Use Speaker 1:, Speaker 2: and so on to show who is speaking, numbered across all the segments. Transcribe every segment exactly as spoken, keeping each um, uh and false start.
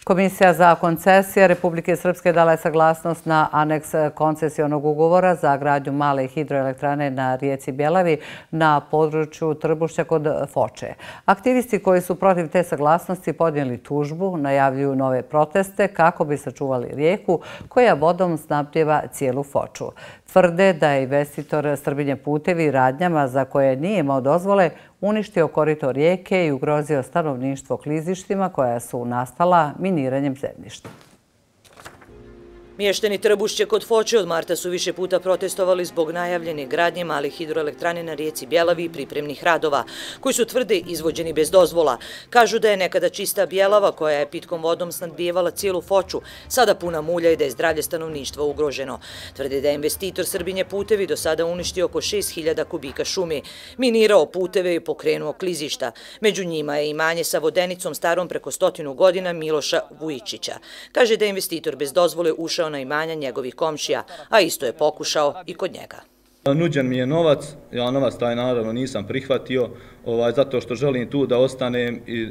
Speaker 1: Komisija za koncesije Republike Srpske dala je saglasnost na aneks koncesionog ugovora za gradnju male hidroelektrane na rijeci Bjelavi na području Trbušća kod Foče. Aktivisti koji su protiv te saglasnosti podnijeli tužbu, najavljuju nove proteste kako bi sačuvali rijeku koja vodom snabdijeva cijelu Foču. Tvrde da je investitor Srbinje putevi radnjama za koje nije imao dozvole uništio korito rijeke i ugrozio stanovništvo klizištima koja su nastala miniranjem zemljišta.
Speaker 2: Mještani Trbušće kod Foče od marta su više puta protestovali zbog najavljene gradnje malih hidroelektrane na rijeci Bjelavi i pripremnih radova, koji su tvrde izvođeni bez dozvola. Kažu da je nekada čista Bjelava, koja je pitkom vodom snabdijevala cijelu Foču, sada puna mulja i da je zdravlje stanovništva ugroženo. Tvrde da je investitor Srbinje putevi do sada uništio oko šest hiljada kubika šume, minirao puteve i pokrenuo klizišta. Među njima je imanje sa vodenicom starom preko stotinu godina Miloša Vujičića. Kaže da je investitor bez dozvole ušao na imanja njegovih komšija, a isto je pokušao i kod njega.
Speaker 3: Nuđen mi je novac, ja novac taj naravno nisam prihvatio, ovaj, zato što želim tu da ostanem i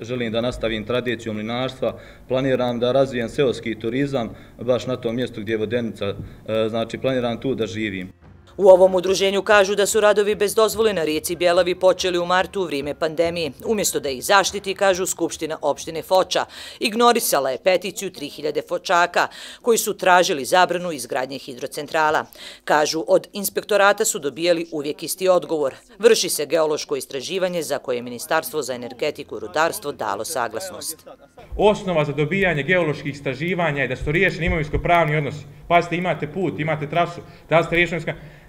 Speaker 3: želim da nastavim tradiciju mlinarstva, planiram da razvijem seoski turizam, baš na tom mjestu gdje je vodenica, znači planiram tu da živim.
Speaker 2: U ovom udruženju kažu da su radovi bez dozvole na rijeci Bjelavi počeli u martu u vrijeme pandemije. Umjesto da ih zaštiti, kažu Skupština opštine Foča, ignorisala je peticiju tri hiljade Fočaka koji su tražili zabranu izgradnje hidrocentrala. Kažu, od inspektorata su dobijali uvijek isti odgovor. Vrši se geološko istraživanje za koje je Ministarstvo za energetiku i rudarstvo dalo saglasnost.
Speaker 4: Osnova za dobijanje geoloških istraživanja je da su riješeni imovinsko-pravni odnosi. Pazite, imate put, imate trasu, da ste riješeni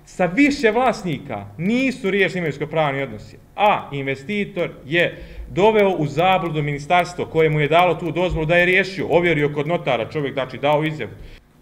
Speaker 4: sa više vlasnika nisu riješeni imovinsko-pravni odnosi, a investitor je doveo u zabludu ministarstvo koje mu je dalo tu dozvolu da je riješio, ovjerio kod notara, čovjek znači dao izjavu.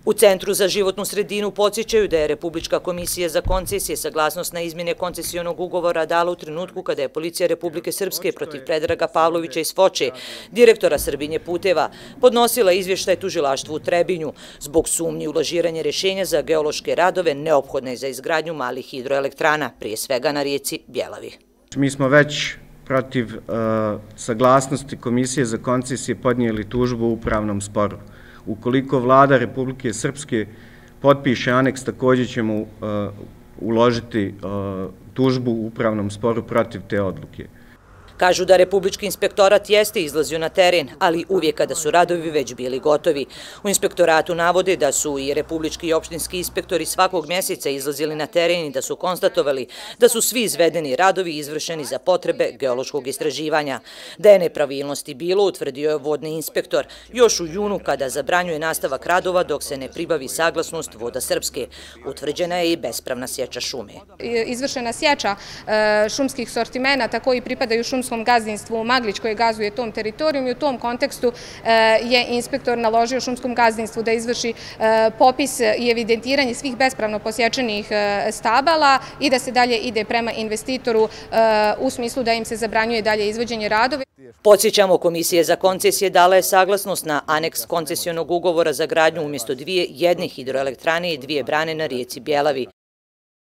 Speaker 2: U Centru za životnu sredinu podsjećaju da je Republička komisija za koncesije saglasnost na izmjene koncesionog ugovora dala u trenutku kada je Policija Republike Srpske protiv Predraga Pavlovića iz Foče, direktora Srbinje puteva, podnosila izvještaj tužilaštvu u Trebinju zbog sumnji u lažiranje rješenja za geološke radove neophodne za izgradnju malih hidroelektrana, prije svega na rijeci Bjelavi.
Speaker 5: Mi smo već protiv uh, saglasnosti Komisije za koncesije podnijeli tužbu u upravnom sporu. Ukoliko vlada Republike Srpske potpiše aneks, također ćemo uh, uložiti uh, tužbu u upravnom sporu protiv te odluke.
Speaker 2: Kažu da Republički inspektorat jeste izlazio na teren, ali uvijek kada su radovi već bili gotovi. U inspektoratu navode da su i republički i opštinski inspektori svakog mjeseca izlazili na teren i da su konstatovali da su svi izvedeni radovi izvršeni za potrebe geološkog istraživanja. Da je nepravilnosti bilo, utvrdio je vodni inspektor još u junu kada zabranjuje nastavak radova dok se ne pribavi saglasnost Voda Srpske. Utvrđena je i bespravna sječa šume.
Speaker 6: Izvršena sječa šumskih sortimenata koji pripadaju šumskom gazdinstvu Maglić koje gazuje tom teritorijom i u tom kontekstu je inspektor naložio šumskom gazdinstvu da izvrši popis i evidentiranje svih bespravno posječenih stabala i da se dalje ide prema investitoru u smislu da im se zabranjuje dalje izvođenje radova.
Speaker 2: Podsjećamo, Komisija za koncesije dala je saglasnost na aneks koncesionog ugovora za gradnju umjesto dvije jedne hidroelektrane i dvije brane na rijeci Bjelavi.